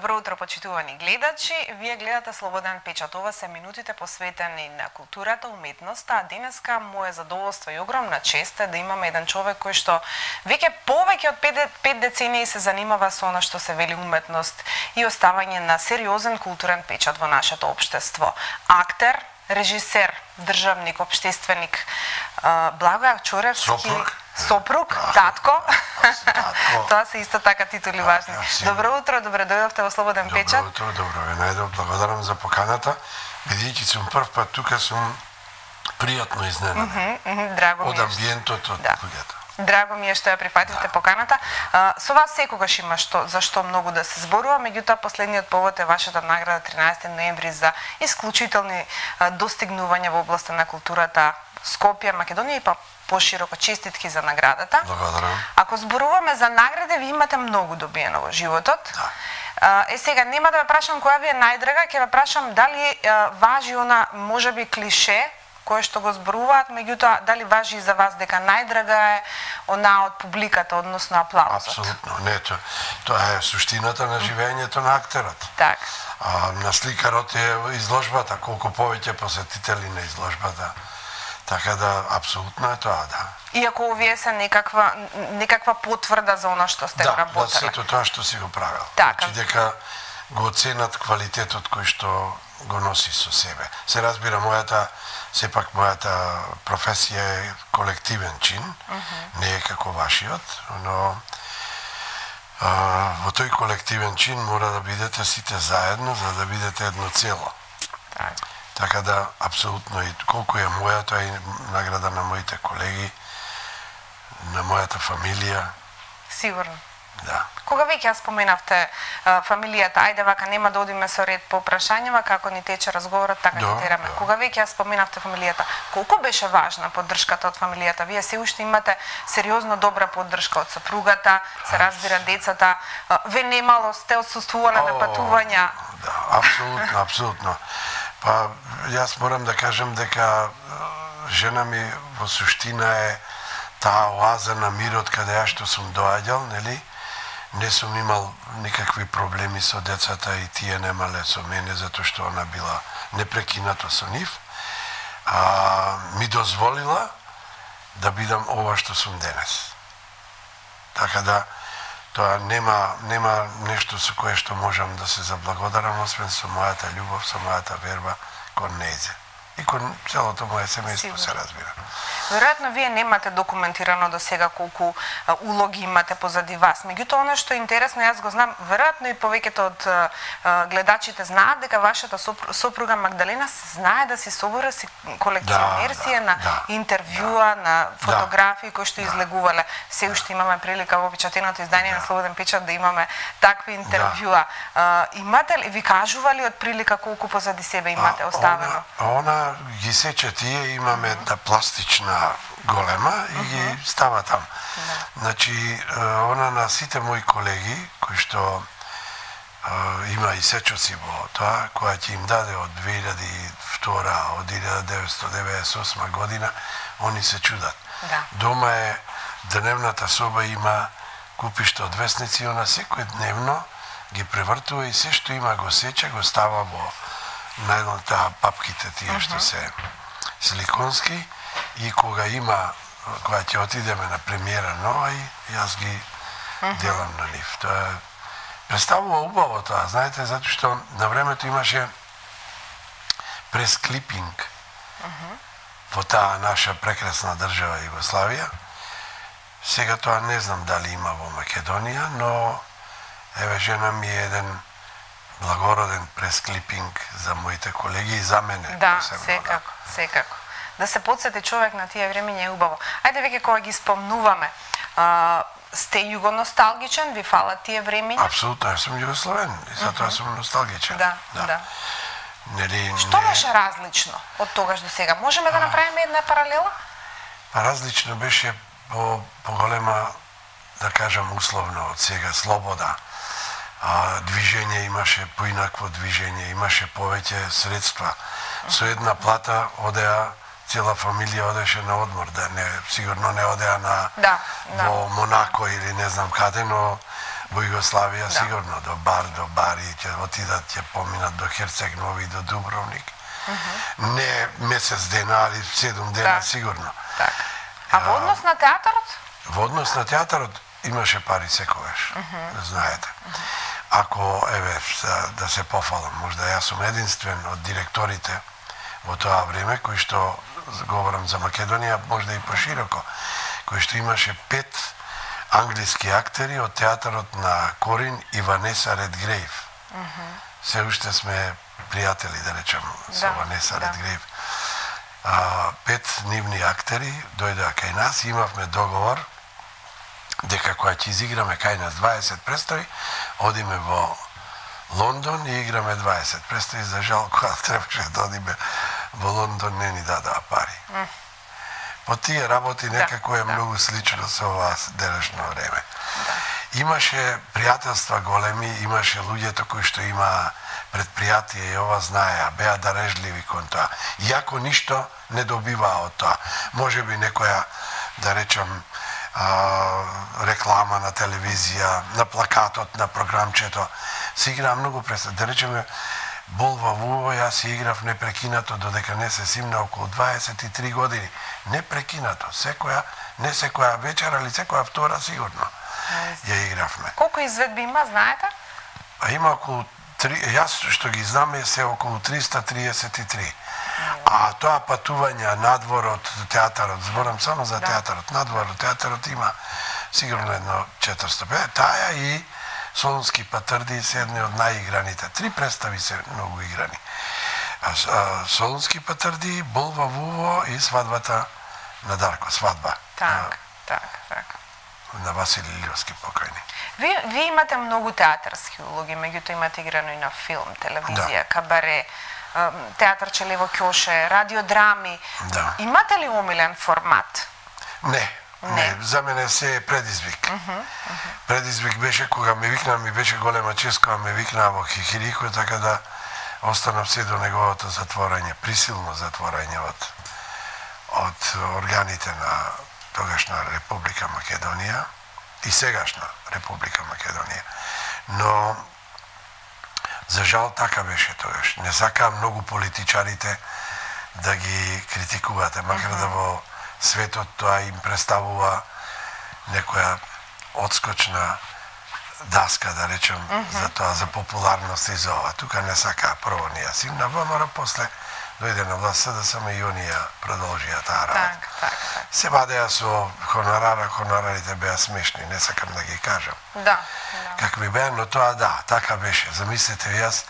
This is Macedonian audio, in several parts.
Добро утро, почитувани гледачи. Вие гледате Слободен печат. Ова се минутите посветени на културата, уметноста, а денеска мое задоволство и огромна чест е да имаме еден човек кој што веќе повеќе од 5 децении се занимава со она што се вели уметност и оставање на сериозен културен печат во нашето општество. Актер, режисер, државник, општественик, Благоје Чоревски, сопруг, татко. Тоа се исто така титули важни. Добро утро, добре дојдовте во Слободен печат. Добро утро, добро ве најдов. Благодарам за поканата. Бидејќи сум прв пат тука, сум пријатно изненаден. Драго ми од е. амбиентот од луѓето. Драго ми е што ја прифативте поканата. Со вас секогаш има за што многу да се зборува, меѓутоа последниот повод е вашата награда 13 ноември за исклучителни достигнувања во областа на културата Скопје, Македонија и па пошироко. Честитки за наградата. Благодарам. Ако зборуваме за награди, ви имате многу добиено во животот. Да. Сега нема да ве прашам која ви е најдрага, ќе ве прашам дали важи она можеби клише кое што го зборуваат, меѓутоа дали важи и за вас дека најдрага е она од публиката, односно аплаузот? Апсолутно, не, тоа е суштината на живењето на актерот. Так. На сликарот е изложбата, колку повеќе посетители на изложбата. Така да, апсолутно е тоа, да. Иако овие се некаква потврда за она што сте работеле. Да, за сето тоа што си го правил. Така. Значи дека го оценат квалитетот кој што го носи со себе. Се разбира, сепак мојата професија е колективен чин, не е како вашиот, но во тој колективен чин мора да бидете сите заедно за да бидете едно цело. Така да, апсолутно, и колку е мојата и награда на моите колеги, на мојата фамилија. Сигурно. Да. Кога веќе ја споменавте фамилијата, ајде вака нема да одиме со ред по прашањава, како ни тече разговорот, така ќе тераме. Кога веќе ја споменавте фамилијата, колку беше важна поддршката од фамилијата? Вие се уште имате сериозно добра поддршка од сопругата, се разбира децата, ве немало, сте отсуствувале на патувања. Да, апсолутно, апсолутно. Па, јас морам да кажем дека жена ми во суштина е таа оаза на мирот каде ја што сум доаѓал, нели? Не сум имал никакви проблеми со децата и тие немале со мене, затоа што она била непрекинато со нив. Ми дозволила да бидам ова што сум денес. Така да, тоа нема нешто со кое што можам да се заблагодарам, освен со мојата љубов, со мојата верба кон нејзе. И кон целото моје семејство, се разбира. Веројатно вие немате документирано до сега колку улоги имате позади вас. Меѓутоа, оно што е интересно, јас го знам, веројатно и повеќето од гледачите знаат дека вашата сопруга Магдалена знае да си собира си колекционерсија на интервјуа, на фотографии кои што излегувале. Се уште имаме прилика во печатеното издание на Слободен печат да имаме такви интервјуа. Имате ли, ви кажували од прилика колку позади себе имате оставено? Она ги сече тие, имаме една пластична голема и ги става там. Значи, она на сите мои колеги, кои што има и сечоци во тоа, која ќе им даде од 2002, од 1998 година, они се чудат. Дома е дневната соба, има купиште од весници, она секој дневно ги превртува и се што има го сече, го става во најдната папките тие што се силиконски, и кога ќе отидеме на премиера нова, и јас ги делам на нив. Тоа представува убаво тоа, знаете, затоа што на времето имаше пресклипинг во таа наша прекрасна држава Југославија. Сега тоа не знам дали има во Македонија, но еве жена ми е еден благороден пресклипинг за моите колеги и за мене. Да, секако. Да се подсети човек на тие времења е убаво. Ајде веќе кога ги спомнуваме, сте југоносталгичен, ви фалат тие времења? Апсолутно, јас сум југословен и затоа сум носталгичен. Да. Нели, што беше различно од тогаш до сега? Можеме да направиме една паралела? Различно беше поголема, да кажам условно, од сега слобода. Движење имаше, поинакво движење, имаше повеќе средства. Со една плата одеа, цела фамилија одеше на одмор, да не, сигурно не одеа во Монако или не знам каде, но во Југославија, сигурно, до Бари, ќе отидат, ќе поминат до Херцег Нови, до Дубровник. Не месец дена, али 7 дена, сигурно. А во однос на театарот? Во однос на театарот имаше пари секогаш, знаете. Ако, еве, да се пофалам, можда јас сум единствен од директорите во тоа време, кој што, говорам за Македонија, можда и пошироко, кој што имаше 5 англиски актери од театарот на Корин и Ванеса Редгрейв. Се уште сме пријатели, да речам, со Ванеса Редгрейв. 5 нивни актери дојдоа кај нас и имавме договор дека кога ќе изиграме кај нас 20 представи, одиме во Лондон и играме 20 представи. За жал, кога требаше да одиме во Лондон, не ни дадоа пари. По тие работи некако е многу слично со ова денешно време. Имаше пријателства големи, имаше луѓето кои што има предпријатие и ова знаеа, беа дарежливи кон тоа. Иако ништо не добиваа од тоа. Може би некоја, да речам, реклама на телевизија, на плакатот, на програмчето, се играа многу представи. Да речеме, Бол во Вуво, јас си играв непрекинато додека не се симна околу 23 години. Непрекинато, не секоја вечер, али секоја втора сигурно ја игравме. Колку изведби има, знаете? Има околу јас што ги знаме се околу 333. А тоа патување надвор од театарот, зборам само за театарот, надвор од театарот има сигурно едно 450. Таја и Солунски патарди се едни од најиграните. 3 представи се многу играни. Солунски патарди, Бол во Вуво и свадбата на Дарко, свадба. Так. На Васили Илиовски покојни. Вие имате многу театарски улоги, меѓутоа имате играно и на филм, телевизија, кабаре, театар Челево Ќоше, радиодрами. Имате ли омилен формат? Не, за мене се е предизвик. Предизвик беше кога ме викнаа, ми беше голема чест кога ме викнаа во Хихирико, така да останав се до неговото затворање, присилно затворање од органите на тогашна Република Македонија и сегашна Република Македонија. Но за жал така беше тогаш. Не сакаа многу политичарите да ги критикувате, макар да во светот тоа им представува некоја одскочна даска, да речем, за тоа, за популарност и за ова. Тука не сакаа прво ние сим на ВМРО, после дојде на власт СДСМ и они ја продолжија таа работа. Се вадеа со хонорарите беа смешни, не сакам да ги кажам. Какви беа, но тоа така беше. Замислете, јас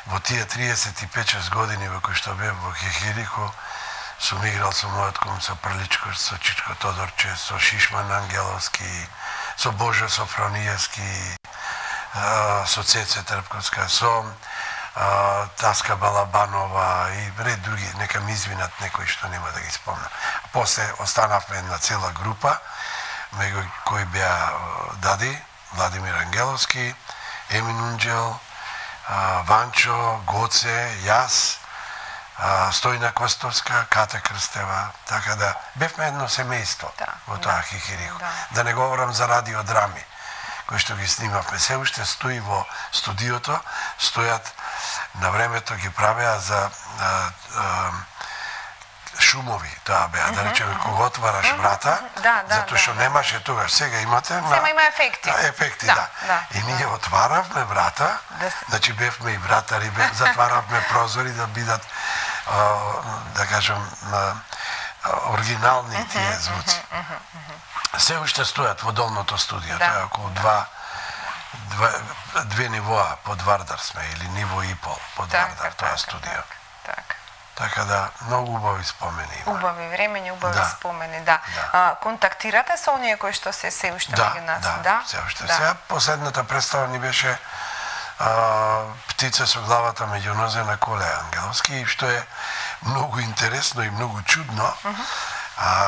во тие 35-6 години во кои што бев во Хихирико, сум играл со мојот кум, со Прличко, со Чичко Тодорче, со Шишман Ангеловски, со Божо Софрониевски, со Цеце Трпковска, со Таска Балабанова и ред други, нека ми извинат некои што нема да ги спомнам. После останавме една цела група, меѓу кои беа Дади, Владимир Ангеловски, Емин Унџел, Ванчо, Гоце, јас, Стојна Костовска, Ката Крстева, така да бевме едно семејство во тоа Хихирико. Да не говорам за радиодрами, кои што ги снимавме. Се уште стои во студиото, стојат на времето ги правеа за шумови, тоа беа, да речеме, кога отвараш врата, затоа што немаше тогаш, сега имате... Сега има ефекти. Ефекти, да. И ние отваравме врата, значи бевме и вратари, затваравме прозори да бидат, да кажем, оригинални тие звуци. Се уште стојат во долното студио, тоа е околу две нивоа под Вардар сме, или ниво и пол под Вардар, тоа студио. Така да, многу убави спомени има. Убави времења, убави спомени, да. Контактирате со оние кои што се уште меѓу нас? Да, се уште. Сега последната представа ни беше Птица со главата меѓу нозе на Коле Ангеловски, што е многу интересно и многу чудно.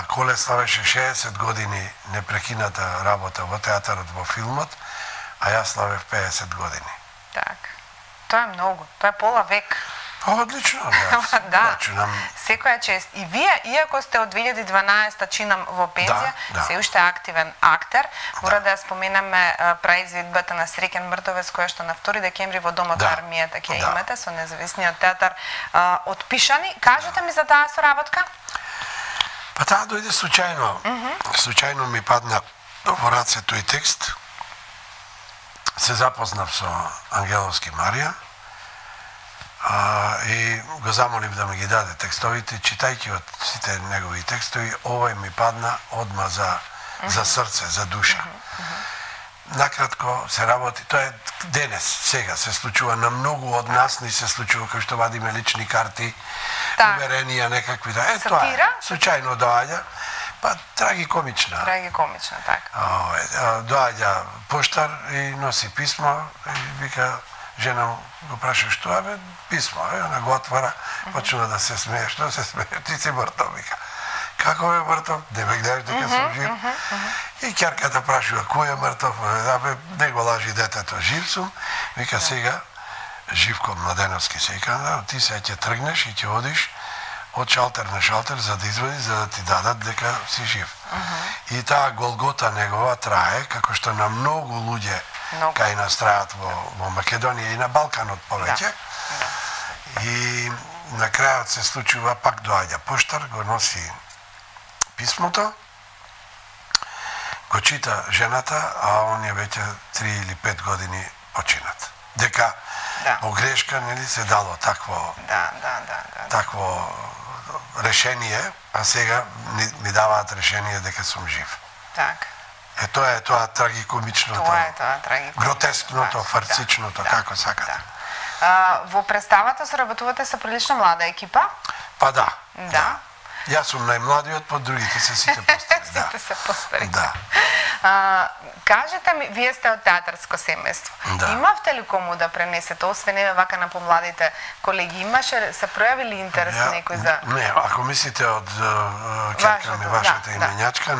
Коле славеше 60 години непрекината работа во театарот, во филмот, а јас славев 50 години. Так. Тоа е многу. Тоа е пола век. Одлично, да. Секоја чест. И вие, иако сте од 2012 чинам во пензија, се уште активен актер. Мора да ја споменаме праизведбата на Среќен Мртовец, која што на 2 декември во Домот армијата ќе имате со независниот театар од Пишани. Кажете ми за таа соработка? Па таа дојде случајно. Случајно ми падна во раце тој текст. Се запознав со Ангеловски Марија и го замолив да ми ги даде текстовите. Читајќи од сите негови текстови, овој ми падна одма за срце, за душа. Накратко се работи, тоа е денес, сега се случува на многу од нас, ни се случува кај што вадиме лични карти, уверенија некакви, тоа случајно доаѓа. Па трагикомична. Трагикомична, така. Доаѓа поштар и носи писмо и вика, жена го праша што е, писмо, она го отвара, почна да се смее, што се смее, ти си мртов, вика. Како е мртов? Не ме гледаш дека сум жив. И ќерката прашува, кој е мртов? Не го лажи детето, жив сум. Вика, сега, Живко Младеновски се вика, ти сега ќе тргнеш и ќе одиш од шалтер на шалтер за да извади, за да ти дадат дека си жив. И таа голгота негова трае, како што на многу луѓе кај нас траат во Македонија и на Балканот повеќе. И на крајот се случува, пак доаѓа поштар, го носи писмото, го чита жената, а он е веќе 3 или 5 години починат. Дека по грешка нели се дало такво решение, а сега ми даваат решение дека сум жив. Так. Тоа е тоа трагикомичното. Тоа е тоа трагикомичното. Гротескното, фарсичното, како сакате. Во представата соработувате со прилично млада екипа? Па да. Да. Јас сум најмладиот, по другите се сите постари. Сите се постари. Да. Кажете ми, вие сте од театарско семејство. Имавте ли кому да пренесете, освен еве вака на помладите колеги, имаше, се пројавили интерес некој за... Не, ако мислите од ќерка ми, вашата именјачка,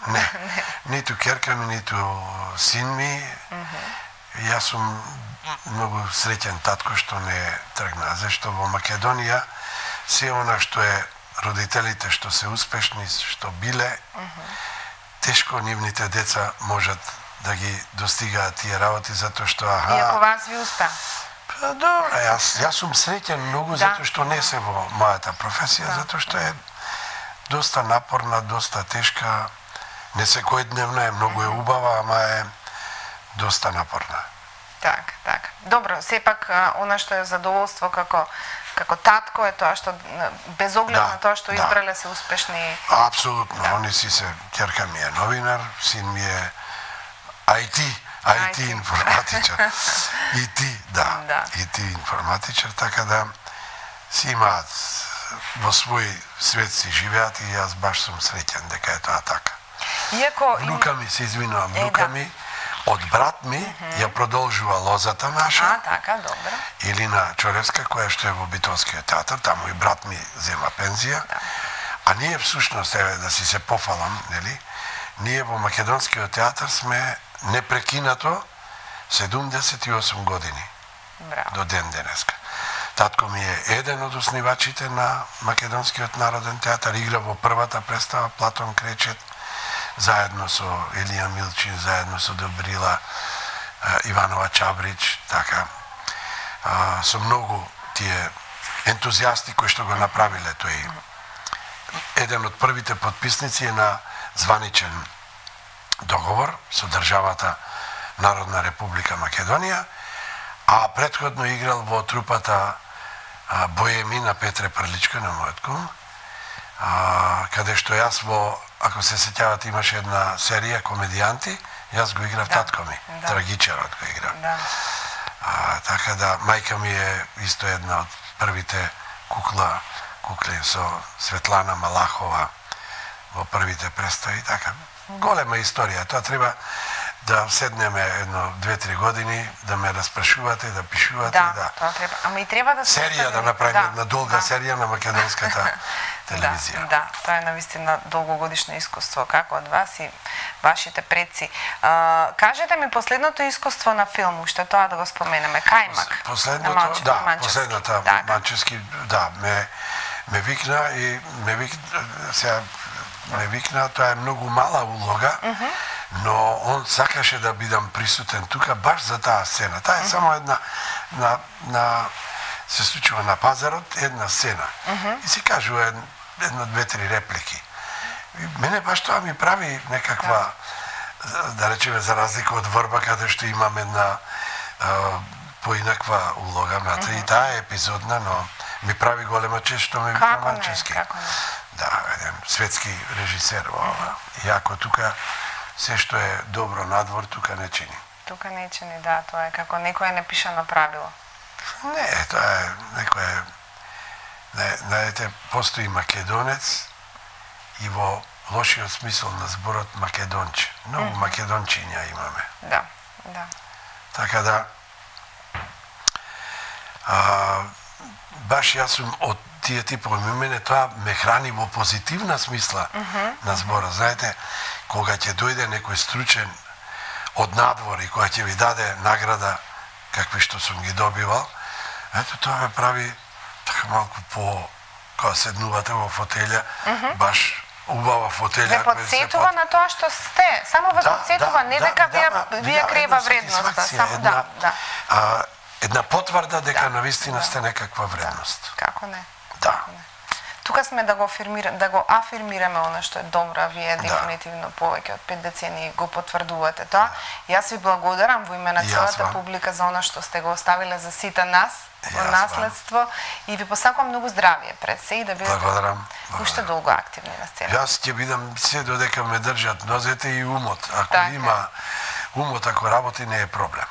не. Ниту ќерка ми, ниту син ми. Јас сум многу среќен татко што не тргна, зашто во Македонија се она што е родителите што се успешни, што биле, тешко нивните деца можат да ги достигаат тие работи, затоа што Иако вас ви успеа. Добро, јас сум среќен многу затоа што не се во мојата професија, затоа што е доста напорна, доста тешка, не секојдневна е, многу е убава, ама е доста напорна. Так. Добро, сепак она што е задоволство како татко е тоа што без оглед на тоа што избрале се успешни. Апсолутно, они си се, ќерка ми е новинар, син ми е IT информатичар. IT информатичар, така да си имаат во свој свет си живеат и јас баш сум среќен дека е тоа така. Внука ми, се извинувам, внука ми од брат ми ја продолжува лозата наша. Така, добро. Илина Чоревска, која што е во Битолскиот театар, таму и брат ми зема пензија. А ние всушност, еве да си се пофалам, нели? Ние во Македонскиот театар сме непрекинато 78 години. Браво. До ден денеска. Татко ми е еден од основачите на Македонскиот народен театар, игра во првата представа Платон Кречет, заедно со Илија Милчин, заедно со Добрила Иванова Чабрич, така. Со многу тие ентузијасти кои што го направиле тој. Еден од првите подписници е на званичен договор со државата Народна Република Македонија, а претходно играл во трупата Боеми на Петре Прличко, на мојот кум, каде што јас ако се сеќавате, имаше една серија комедијанти, јас го играв татко ми, трагичарот го играв. Така да, мајка ми е исто една од првите кукли со Светлана Малахова во првите представи, така. Голема историја, тоа треба да седнеме едно 2-3 години, да ме распрашувате, да пишувате. Тоа треба. Ама и треба да серија да направиме една долга серија на македонската телевизија. Да, тоа е навистина долгогодишно искуство, како од вас и вашите предци. Кажете ми последното искуство на филм, уште тоа да го споменеме, Кајмак. Последното, да, последната Манчевски, да, ме викна и ме викна, тоа е многу мала улога, но он сакаше да бидам присутен тука баш за таа сцена. Таа е само една се случува на пазарот, една сцена. И се кажува една, две-три реплики. И мене баш тоа ми прави некаква, да речеме, за разлика од Врба, каде што имам една поинаква улога, и таа е епизодна, но ми прави голема чест што ме викна Манчевски. Да, еден светски режисер во ова. И ако тука се што е добро надвор, тука не чини. Тука не чини, да, тоа е како некое непишано правило. Не, тоа е некое... Знаете, постои македонец и во лошиот смисол на зборот македонче. Многу македончиња имаме. Да, да. Така да... баш јас сум од тие типови, мене тоа ме храни во позитивна смисла на збора. Знаете, кога ќе дојде некој стручен од надвор и кога ќе ви даде награда какви што сум ги добивал, ето тоа ме прави така малку кога седнувате во фотелја, баш убава фотелја. Ве подсетува на тоа што сте, само ве подсетува, не дека вие крева вредноста. Една потврда дека навистина сте некаква вредност. Како не? Да. Тука сме да го афирмираме она што е добро, вие дефинитивно повеќе од 5 децении го потврдувате тоа. Јас ви благодарам во име на целата публика за она што сте го оставиле за сите нас во наследство и ви посакувам многу здравје пред се и да бидете уште долго активни на сцена. Јас ќе бидам се додека ме држат нозете и умот. Ако има умот, ако работи, не е проблем.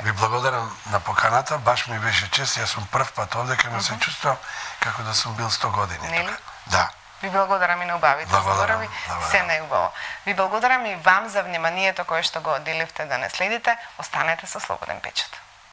Ви благодарам на поканата, баш ми беше чест, јас сум прв пат овде, кога се чувствувам како да сум бил 100 години тука. Да. Ви благодарам и на убавите зборови, се најубаво. Ви благодарам и вам за вниманието кое што го одделивте да не следите, останете со Слободен печат.